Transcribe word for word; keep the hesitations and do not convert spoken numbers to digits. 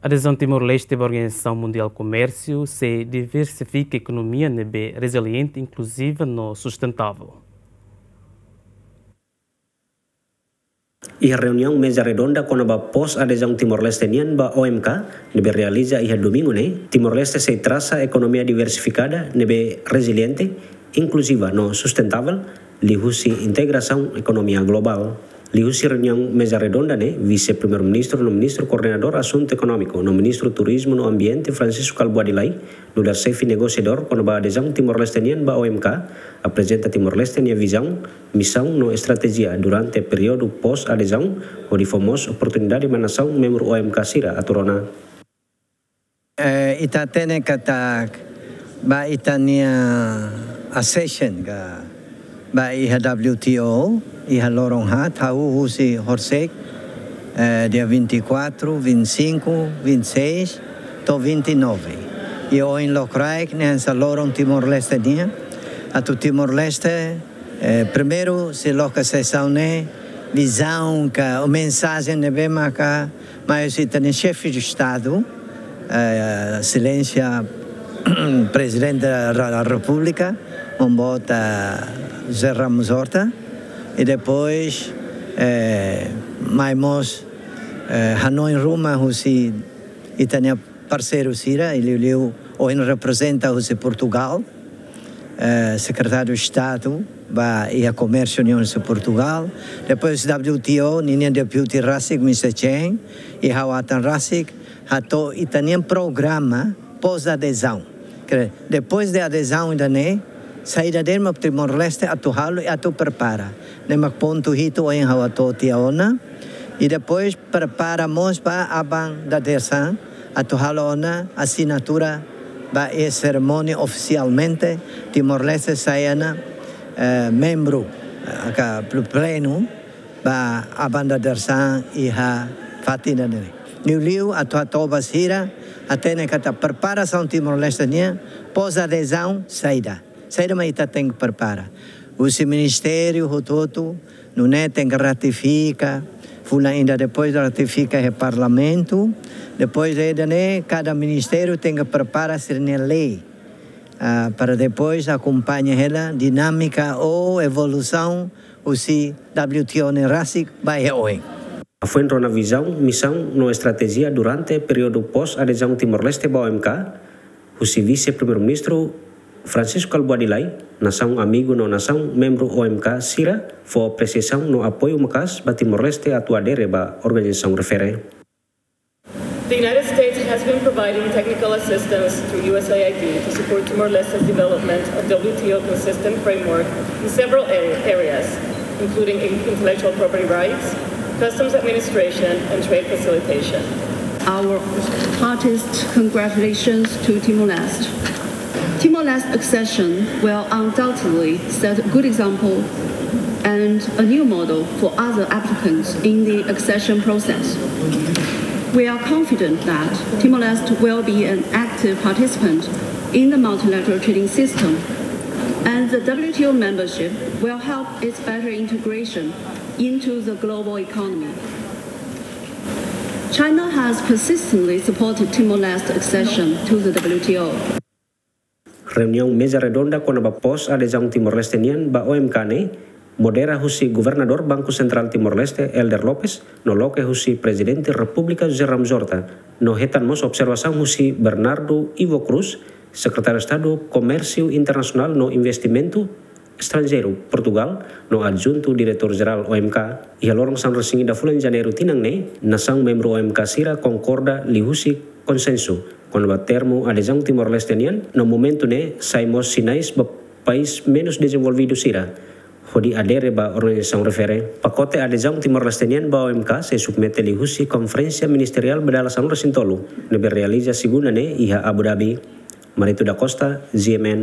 Adezaun Timor-Leste ba Organizasaun Mundiál Komérsiu sei diversifika ekonomia ne'ebé reziliente, inkluziva no sustentável. Iha reuniaun meza redonda kona-ba pós-adezaun Timor-Leste nian ba O M K ne'ebé realiza iha domingu ne'e, Timor-Leste sei trasa ekonomia diversifikada ne'ebé reziliente, inkluziva no sustentável liuhusi integrasaun ekonomia globál. Liuhusi reuniaun meza redonda ne'e, Vise-Primeiru-Ministru no Ministru Koordenadór Asuntu Ekonómiku no Ministru Turizmu no Ambiente, Francisco Kalbuadi Lay, nu'udar xefe negosiadór kona-ba adezaun Timor-Leste nian ba O M K, aprezenta Timor-Leste nia vizaun, misaun no estratéjia durante períodu pós-adezaun, hodi fó mós oportunidade ba nasaun membru O M K sira atu rona. Eh, ita hatene katak ba ita-nia accession ka ba iha W T O, iha loron haat, hahú husi horisehik, eh, dia vinte e quatro, vinte e cinco, vinte e seis, to'o vinte e nove. I ohin lokraik ne'e hanesan loron Timor-Leste nian, atu Timor-Leste, eh, primeiru sei loke sesaun ne'e, vizaun ka, ou mensajen ne'ebé maka mai husi ita-nia xefe de Estadu, eh, Exelénsia Prezidente da, da Repúblika, Maun Boot José Ramos Horta, i depois, eh, mai mós, eh, hanoin ruma husi ita-nia parseiru sira, i liuliu ohin reprezenta husi Portugál, eh, Sekretáriu Estadu ba iha Komérsiu nian husi Portugál. Depois W T O, ninia deputy rasik, Mister Chen, i ha'u atan rasik, hato'o ita-nia programa pós-adezaun. Kere, depois de adezaun ida-ne'e, saida de'it mak Timor-Leste atu halo i atu prepara. Ne'e mak pontu hitu ohin ha'u hato'o tiha ona. I depois prepara mós ba aban dadeer-saan atu halo ona asinatura ba iha serimónia ofisialmente Timor-Leste sai ona, eh, membru, eh, ka pl-, plenu ba aban dadeer-saan iha fatin ida-ne'e. Liuliu atu hato'o ba sira hatene katak preparasaun Timor-Leste nian pós-adezaun saida. Saida mak ita tenke prepara. Husi ministériu hotu-hotu, nune'e tenke ratifika, fulan ida depois ratifika iha Parlamentu, depois de ida-ne'e, kada ministériu tenke prepara sira-nia lei, ah, para depois akompaña hela dinámika ou evolusaun husi W T O ne'e rasik ba iha oin. Hafoin rona vizaun, misaun no estratéjia durante períodu pós-adezaun Timor-Leste ba O M K, husi Vise-Primeiru-Ministru Francisco Kalbuadi Lay, nasaun amigu no nasaun membru O M K sira fó apresiasaun no apoiu maka'as ba Timor-Leste atu adere ba organizasaun refere. The United States has been providing technical assistance through U S A I D to support Timor-Leste's development of W T O consistent framework in several a-, areas, including in-, intellectual property rights, customs administration, and trade facilitation. Our heartiest congratulations to Timor-Leste. Timor-Leste's accession will undoubtedly set a good example and a new model for other applicants in the accession process. We are confident that Timor-Leste will be an active participant in the multilateral trading system, and the W T O membership will help its better integration into the global economy. China has persistently supported Timor-Leste's accession to the W T O. Reuniaun meza redonda kona-ba pós-adezaun Timor-Leste nian ba O M K ne'e modera husi Governadór Banku Sentrál Timor-Leste, Helder Lopes, no loke husi Prezidente Repúblika José Ramos Horta, no hetan mós observasaun husi Bernardo Ivo Cruz, Sekretáriu Estadu Komérsiu Internasionál no Investimentu Estranjeiru, Portugál, no Adjuntu Diretór Jerál O M K. Iha loron sanulu-resin-ida fulan Janeiru tinan ne'e, nasaun membru O M K sira konkorda liuhusi konsensu kona-ba termu adezaun Timor-Leste nian, no momentu ne'e sai mós sinais ba país menus dezenvolvidu sira hodi adere ba organizasaun refere. Pakote adezaun Timor-Leste nian ba O M K sei submete liuhusi Konferénsia Ministeriál ba dala sanulu-resin-tolu ne'ebé realiza Segunda ne'e iha Abu Dhabi. Marito da Costa, G M N,